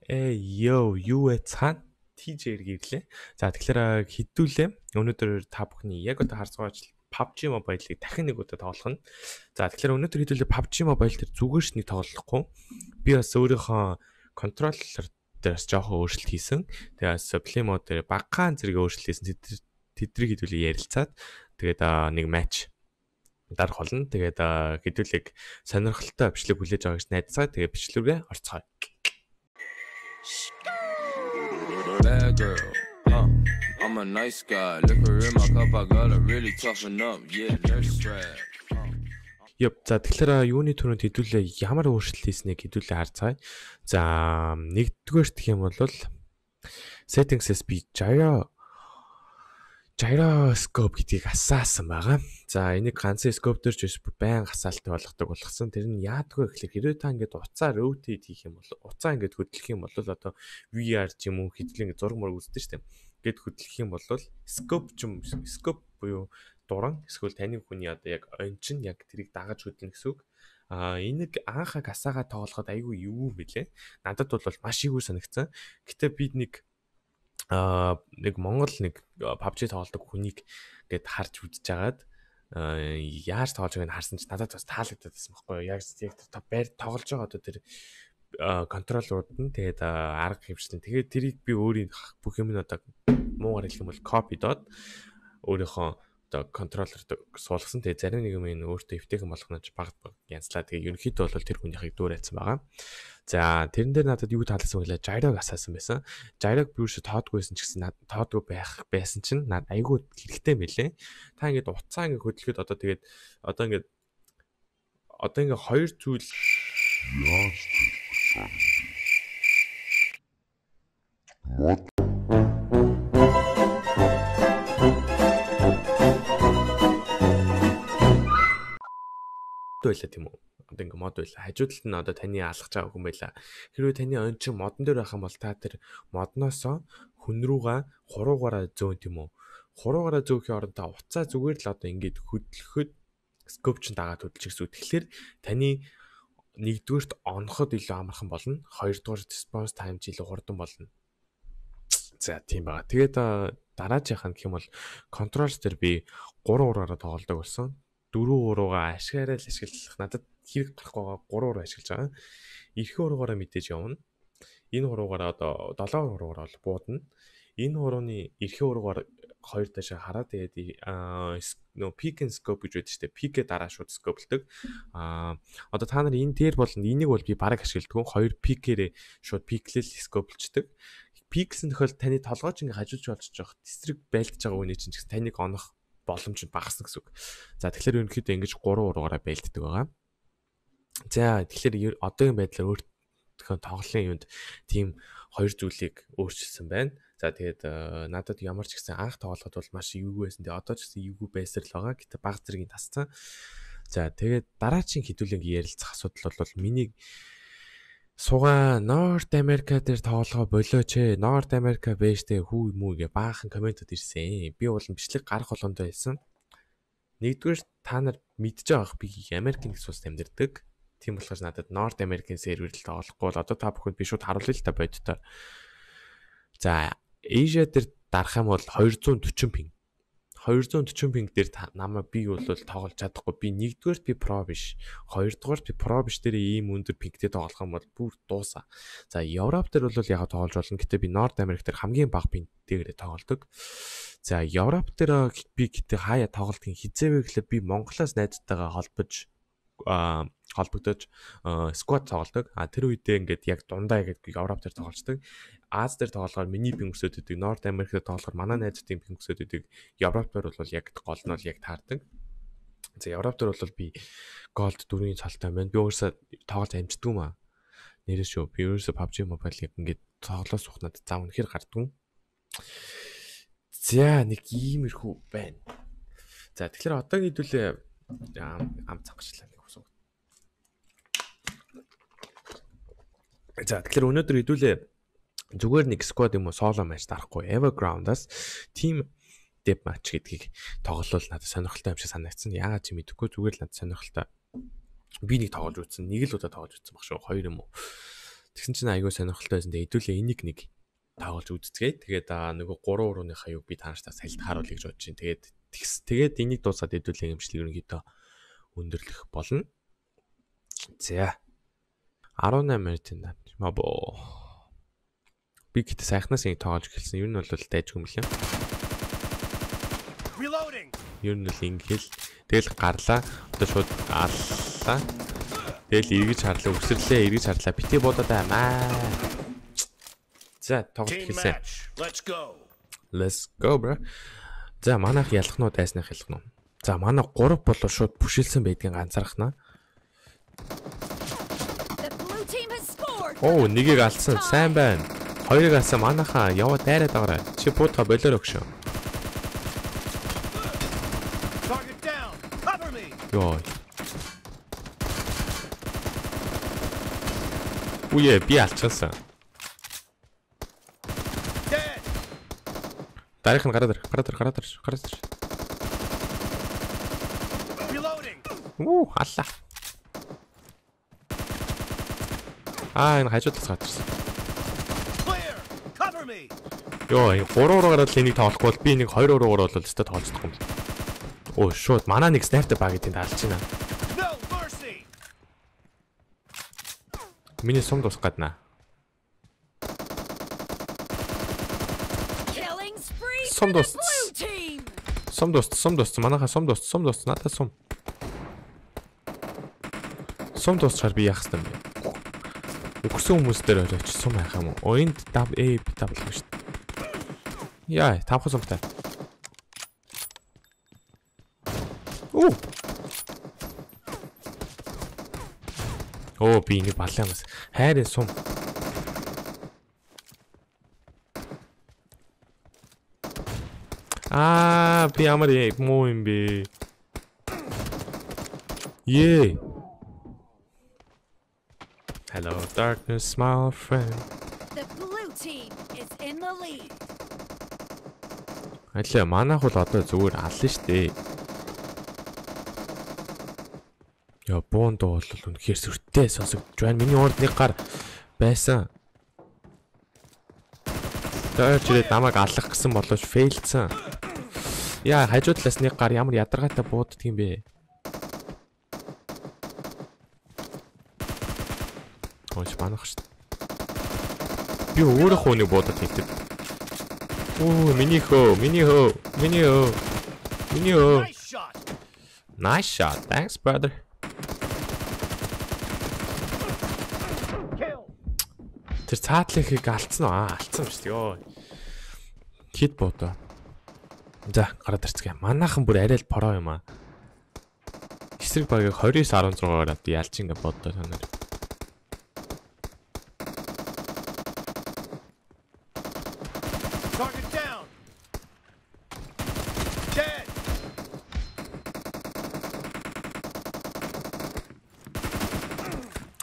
Юу вэ цаана TJ-ээр гэрлээ. За тэгэхээр хэдүүлээ. Өнөөдөр та бүхний яг одоо харж байгаа ажил PUBG Mobile-ыг дахин нэг удаа тоглох нь. За тэгэхээр өнөөдөр хэдүүлээ PUBG Mobile дээр зүгээр ш нэг тоглохгүй. Би бас өөрийнхөө контроллер дээрс жоохон өөрчлөлт хийсэн. Тэгээд Play mode дээр багахан зэрэг өөрчлөлт хийсэн. Тэдрийг хэдүүлээ ярилцаад тэгээд нэг матч дарах болно. Тэгээд хэдүүлэг сонирхолтой бичлэг хүлээж авах гэж найдацгаа. Тэгээд бичлэгээ орцгоё. Bad girl, I'm a nice guy. Liquor in my cup, I gotta really toughen up. Yeah, nurse strap. За тэгэхээр юуны түрүүнд хэдүүлээ ямар өөрчлөлт хийснийг хэдүүлээ харцгаая. За нэгдүгээрт гэх юм бол settings-с би gyroscope гэдгийг асаасан байгаа. За энийг ганцхан scope дээр ч биш байн асаалттай болгосон. Тэр нь яадгүй гэхэлэр хэрвээ та ингээд уцаар rotate хийх юм бол уцаа ингээд хөдлөх юм бол одоо VR ч юм уу хэдл ингээд зураг мураг үздэг шүү дээ. Ингээд хөдлөх юм бол scope буюу дуран эсвэл таны хүний одоо яг ончин яг тэрийг дагаж хөдлөн гэсэн үг. Энийг анхаг асаагаа тоглоход айгүй юу мэлээ. Надад бол маш ийгүү санагдсан. Гэтэ би нэг Монгол нэг PUBG тоглодог хүнийг ингээд харж үзэж агаад яаж тоглож байгааг нь харсан чи надад бас таалагдаад байсан байхгүй юу. Яг тэр байр тоглож байгаа одоо тэр контроллерууд нь тэгээд арга хэмжлэн. Тэгээд тэрийг би өөрийн бүх юм нь одоо муугаар хэлэх юм бол copy доод өөрийнхөө одоо контроллерт суулгасан. Тэгээд зарим нэг юм өөртөө эвтэйхэн болгоно ч баг янзлаа. Тэгээд ерөнхийдөө бол тэр хүнийхийг дүүрээсэн байгаа. За тэрэн дээр надад юу таалагдсан вэ? Gyrog асаасан байсан. Gyrog би юуш тоодгүйсэн ч гэсэн тоодгүй байсан чинь надад айгүй хэрэгтэй мэлээ. Та ингээд уцаа ингээд хөдлөхөд одоо ингээд хоёр зүйл байлаа тийм үү? Одоо ингээ мод байлаа. Хажуудалд нь одоо таны алгаж байгаа хүн байлаа. Хэрвээ таны ончин модон дээр байх юм бол та тэр модноосоо хүн рүүгээ хуруугаараа зөөн тийм үү? Хуруугаараа зөөхийн оронд та уцаа зүгээр л одоо ингээд хөдлөхөд scope чин дагаад хөдөлж гэсэн үг. Тэгэхээр таны нэгдүгээрт оноход илүү амархан болно. Хоёрдугаар response time ч илүү хурдан болно. За тийм байгаа. Тэгээд дараачиххан гэх юм бол controls дээр би 3 ураараа тоглодог болсон. 4 уруугаа ашиглаад ашиглах надад хэрэг гарахгүй байгаа 3 уруу ашиглаж байгаа. Эрхээ уруугаараа мэдээж явна. Энэ уруугаараа одоо 7 уруугаараа бол буудна. Энэ урууны эрхээ уруугаар хоёр таашаа хараа тэгээд peak and scope гэж байдаг шүү дээ. Peak-ээ дараа шууд scope-лдэг. Одоо та нар энэ дээр бол энийг бол би бараг ашигладаг. Хоёр peak-ээрээ шууд peak-лэл scope-лчдэг. Peak-сэн тохиол таны толгойч ингээ хажууч болчих жоох. Дистрик байлдаж байгаа үний чинь таныг онох боломж нь багасна гэсэн үг. За тэгэхээр ерөнхийдөө ингэж 3 уруугаараа байлддаг байгаа. За тэгэхээр одоогийн байдлаар өөртөө тоглолын юунд тийм хоёр зүйлийг өөрчилсөн байна. За тэгээд надад ямар ч гэсэн анх тоглоход бол маш эвгүй байсан. Тэгээд одоо ч гэсэн эвгүй байсаар л байгаа. Гэтэ баг зэргийн тасцсан. За тэгээд дараагийн хэдүүлэг ярилцах асуудал бол миний суга North America дээр тоглохоо болооч ээ. North America бэжтэй хүү мүү гэ баахан комментод ирсэн. Би бол бичлэг гарах болгондоо хэлсэн. Нэгдүгээр та нар мэдж байгаах би Америкийн их улсад амьдардаг. Тийм болохоор надад North American сервер л тоглохгүй бол одоо та бүхэнд би шууд харуулъя л та бодитоор. За Asia дээр дарах юм бол 240 пинг. 240 пинг дээр намайг би бол тоглож чадахгүй. Би нэгдүгээрт би про биш. Хоёрдугаарт би про биш дээр ийм өндөр пингтэй тоглох юм бол бүр дуусаа. За Европ дээр бол яг тоглож болно. Гэтэ би North America дээр хамгийн бага пингтэйгээр тоглодог. За Европ дээр би гэтэ хаяа тоглолтын хизээвэ гэхлээр би Монголоос найзтайгаа холбогдож squad тоглодог. Тэр үедээ ингээд яг дундаа яг Европ дээр тоглолцдог. Аз дээр тоглохоор миний пинг өсөд идэг. North America дээр тоглохоор манай найзуудын пинг өсөд идэг. Европ дээр бол яг гол нь бол яг таардаг. За Европ дээр бол би голд 4-ийн цалтай байна. Би өөрөөсөө тоглож амждаг юм аа. Нэрээ шүү. Би өөрөөсөө PUBG Mobile яг ингээд тоглоос ухнаад зав үнэхээр гардгүй. За нэг иймэрхүү байна. За тэгэхээр одоо хэдүүлээ ам цагчлаа нэг усуу. За тэгэхээр өнөөдөр хэдүүлээ зүгээр нэг squad юм уу solo match дарахгүй Everground-аас team death match гэдгийг тоглол надад сонирхолтой юм шиг санагдсан. Яагаад ч мэдэхгүй зүгээр л надад сонирхолтой. Би нэг тоглож үзсэн. Нэг л удаа тоглож үзсэн баг шүү. Хоёр юм уу. Тэгсэн чинь айгүй сонирхолтой байсан. Тэгээд хэдүүлээ энийг нэг тааруулж үзцгээе. Тэгээд нөгөө 3 урууныхаа юг би танаштаа салд харуулъя гэж бодож чинь. Тэгээд энийг дуусгаад хэдүүлээ эмчлэг ерөнхийдөө өндөрлөх болно. За 18 минутын даа. Мабо. Би гэтээ сайхнаас ингэ тоолж эхэлсэн. Юу нь бол дайжгүй юм лээ. Юу нь л ингээл тэгэл гарлаа. Одоо шууд аллаа. Тэгэл эргэж харлаа, өсрлээ, эргэж харлаа. Бити буудаад аймаа. За тоглолт эхэлсэн. Let's go bro. За манайх ялах нь уу, дайснах ялах нь уу? За манай 3 болоо шууд бүшилсэн байдгийг ганцаархнаа. Оо, нэгийг алдсан. Сайн байна. Хоёрыг алсан. Манайхаа яваа дайраад байгаарай. Чи буудха болоор өгшөө. Йоо. Үе би алчсан. Дарих нь гараад ир. Уу, алла. Энэ хажуудаас гатарсан. Йоо, 3 руу гараад л энийг тоолохгүй бол би нэг 2 руу ороод л өстой тоолцдохгүй юм. Оо, шууд манай нэг снайпер баг гэдгийг алж байна. Миний сум дус гаднаа. Сум дус. Манайха сум дус. Надад сум. Сум дусчаар би яах юм бэ? Өгсөн хүмүүс дээр оройч сум яах юм уу? Энд W гэж шүү дээ. Яа, тавхан сумтай. Оо, би ингэ баллаа юмс. Хайрын сум. Би ямар муу юм бэ? Hello darkness my friend. The blue team is in the lead. Аллаа манайх бол одоо зүгээр аллаа штэ. Яа боонд бол үнэхээр сүртэй сонсогдож байна. Миний урд нэг гар байсан. Тэрчээд намайг аллах гэсэн болооч фейлдсэн. Яа хажуудлаас нэг гар ямар ядаргаатай бууддаг юм бэ? Ооч манах штэ. Би өөрөө нэг буудад хийдэг. Оо миний хөө. Nice shot. Thanks brother. Тэр цаатлахыг алдсан уу? Алдсан шүү дээ. Йоо. Хит боодоо. За, гараад ирцгээе. Манайхан бүр арай л пороо юм аа. Эсрэг багийг 29-16-аар авд ялч ингэ боддоо санаар.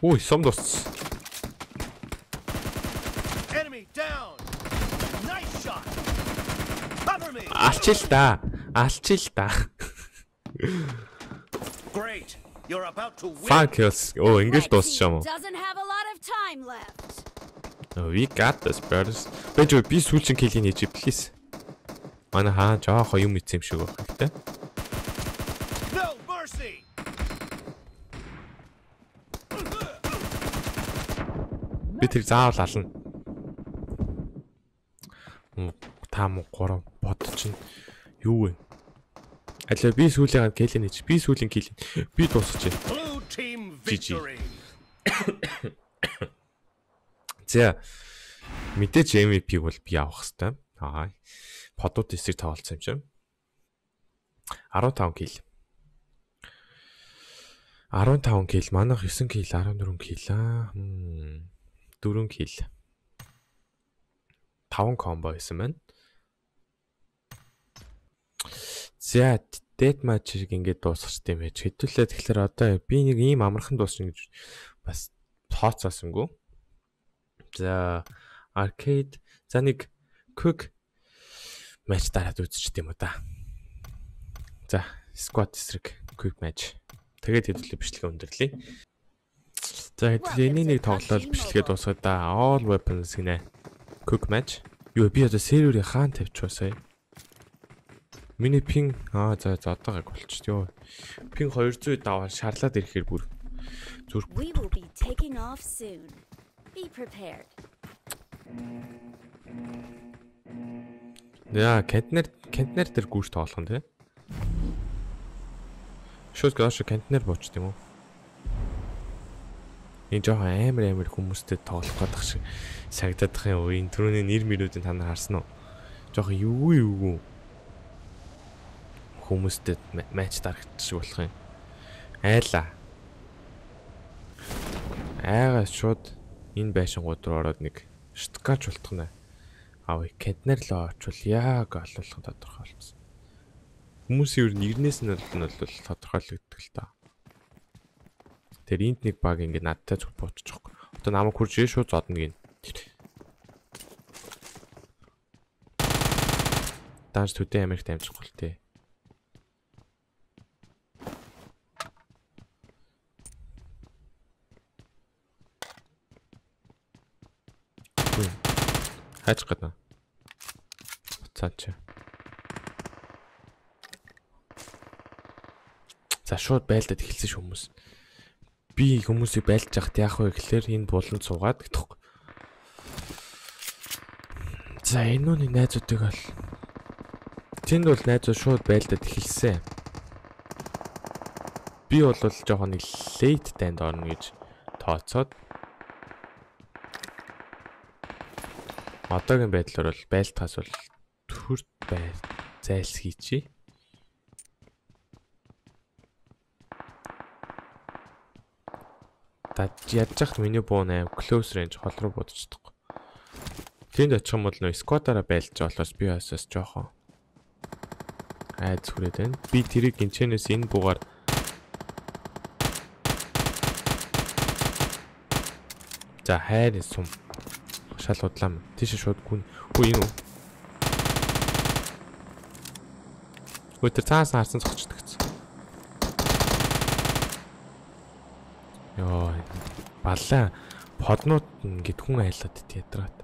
Ой, сум дус. Алчил та. Great. You're about to win. Fuck us. Оо, ингэж дуусчихсан юм уу? Doesn't have a lot of time left. We got this brothers. Би сүүлчийн килийг хийж please. Манай хаа жоох юм ицсэн юм шиг байна гэхдээ. No mercy. Би тэр заавал ална. Таам 3 бод чинь юу вэ? Алаа би сүүлийн килийг хийж. Би сүүлийн килийг. Би дуусчих. Blue team victory. За мэдээж MVP бол би авах хэвээр. Подууд эсрэг тоглолцсон юм чинь. 15 кил. 15 кил, манайх 9 кил, 14 кил. 4 кил. 5 комбо хийсэн байна. За, dead match-ийг ингээд дуусгах юм байж. Хэдүүлээ тэгэхээр одоо би нэг ийм амархан дуусна гэж бас тооцоосонгүй. За, arcade. За нэг quick match дараад үзчих юм уу да. За, squad эсрэг quick match. Тэгээд хэдүүлээ бичлэгээ өндөрлөе. За хэдүүлээ энийг тоглол бичлэгээ дуусгаад да. All weapons гинэ. Quick match. Юу би одоо серверийн хаан тавьчихваа сая. Миний пин за одоогаг болчихё. Пин 200 даваа шарлаад ирэхээр бүр зүрх. We will be taking off soon. Be prepared. Яа, контейнер дээр гүйж тоглох нь тий. Шууд гаш контейнер буучт юм уу? Энэ жоохон амар хүмүүстэй тоглох гэдэг шиг сагдах юм уу? Энэ түрүүний нэр мөрүүдийн та нар харсан уу? Жоохон юу хүмүүстэй матч дарагдчих болох юм. Айла. Айгаас шууд энэ байшингууд руу ороод нэг штукач болтох нэ. Авъя контейнер л очвол яг олуулах тодорхой болсон. Хүмүүсийн ер нь ирнээс нь бол тодорхойлогддог л та. Тэр энд нэг баг ингэ надтай зүг буутчихгүй. Одоо намайг хурж ирээ шууд зодно гин. Данж төдөө Америкт амжихгүй л тээ. Хайч гадна. Цаач. За шууд байлдаад эхэлсэн ш хүмүүс. Би хүмүүсийг байлж яхад яах вэ гэхлээр энэ буланд суугаад гэдэгхгүй. За энэ нүний найзуудыг бол тэнд бол найзууд шууд байлдаад эхэлсэн. Би бол жоохон нэг late танд орно гэж тооцоод одоогийн байдлаар бол байлтахаас бол төрт зайлсхийчи. Ядж яхад миний буун аим close range хол руу будчихдаг. Тэнд очих юм бол нөө squad-аараа байлж болохоос би басаас жоохон айц хүрээд байна. Би тэрийг гинчэнээс энэ буугаар за хайр сум шал удлаа. Тийш шууд гүн. Хөө энэ үү? Өтөр цаас харсан цогчдөг гэсэн. Йоо баллаа поднууд ингээд хүн айлаад ядраад.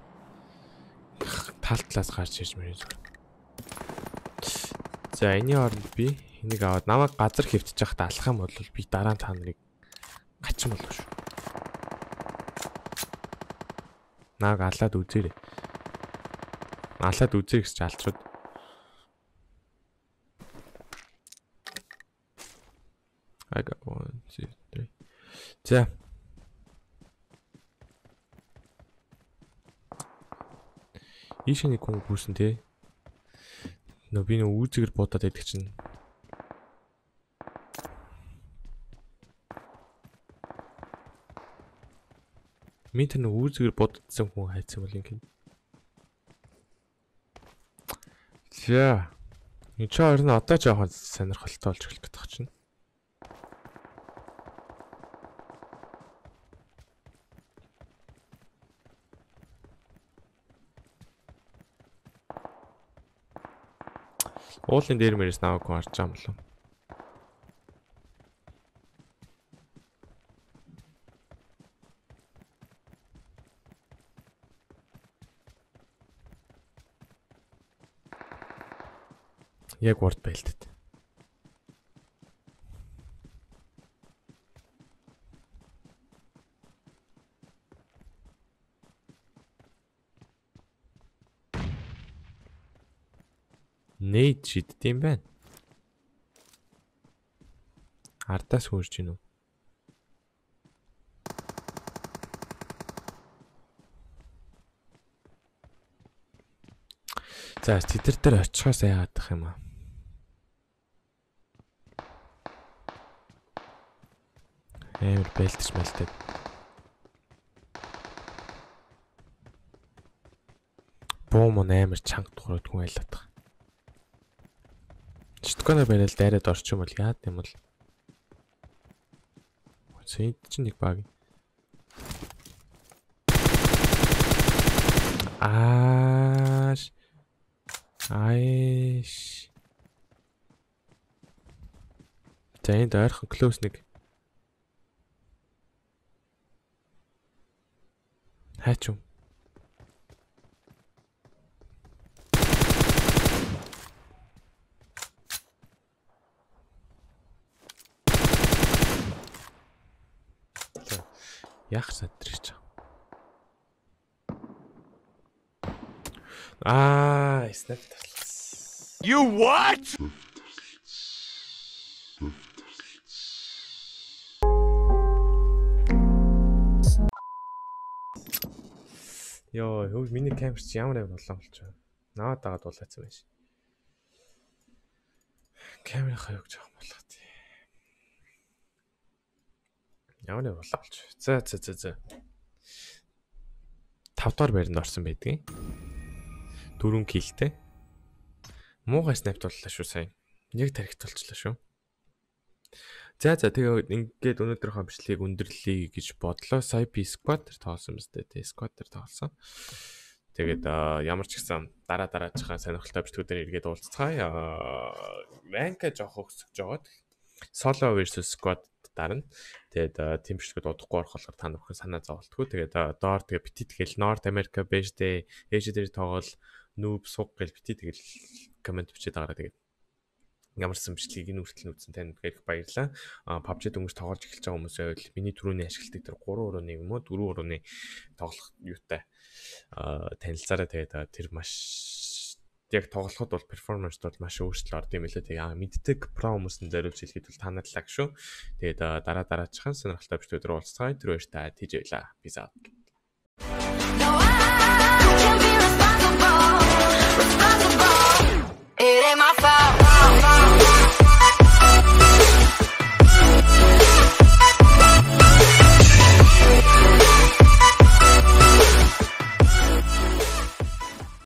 Тал талаас гарч ирж мэрээ зүгээр. За энэний оронд би энийг аваад намайг газар хөвтөж явахад алах юм бол би дараа нь та нарыг гачин болов шүү. Нааг алаад үзээрэй. Алаад үзээ гэж алчууд. I got 1 2 3. За. Ийшний хүн гүйсэн те. Нөө би нөө үүзэгээр буудаад байдаг чинь. Минь тэр нөө үүзэгээр буудсан хүн хайцсан бол юм. За. Энэ ч хоёр нь одоо жоохон сонирхолтой болж эхлэх гэдэг чинь. Уулын дээр мэрээс наваг харж байгаа юм болов. Яг урд байлтад. Нээд шиддэм байна. Ардаас хөрж гинү. За тэдэр дээр очихоос яагаад юм аа. Амар байлтж мэлтэй. Бом амар чанга тухраад хүн айлаад байгаа. Читконоор барайл дайраад орчих юм бол яад юм бол. Энд чинь нэг баг. Айш. За энд ойрхон close нэг. Хайч юм. Яах сандрч. Снайп таслаа. You what? Йоо, миний камер чи ямар юм болоо болчихоо. Наваад дагаад дуулаацсан байж. Камерын хаяг жоох болоо тий. Ямар юм болоо болчих. За. 5 дахь байранд орсон байдгийн. 4 киллтэй. Муухай снайп боллоо шүү сайн. Яг тархит болчлаа шүү. За тэгээ ингээд өнөөдрийнхөө бичлэгийг өндөрлөе гэж бодлоо. Сая би squad дээр тоолсон юм зү. Squad дээр тоолсон. Тэгээд ямар ч гэсэн дараачихаа сонирхолтой бичлэгүүдээр эргээд уулзцгаая. Ранка жоох өсөж жоод solo versus squad дарна. Тэгээд team бичлэгүүд удахгүй орох болохоор та бүхэн санаа зовлтгүй. Тэгээд доор тэгээ бити тэгэл North America Beige дээр дээр тоглол noob суг гэл бити тэгэл комент бичээд байгаараа тэгээд ямарсан бичлэгийг нүртэл нүцэн тань гэх баярлаа. PUBG дөнгөж тоглож эхэлж байгаа хүмүүс байвал миний түрүүний ашигладаг тэр 3.1 юм уу 4.1 тоглох юутай танилцаараа тэгээд тэр маш яг тоглоход бол перформанс бол маш өөрчлөлт орд юм лээ. Тэгээ мэддэг про хүмүүсийн зориулж хэлэхэд бол танадлаа шүү. Тэгээд дараачихан сонирхолтой бичлэгүүд рүү уулзцгаая. Тэр баяртай тийж байлаа. Peace out.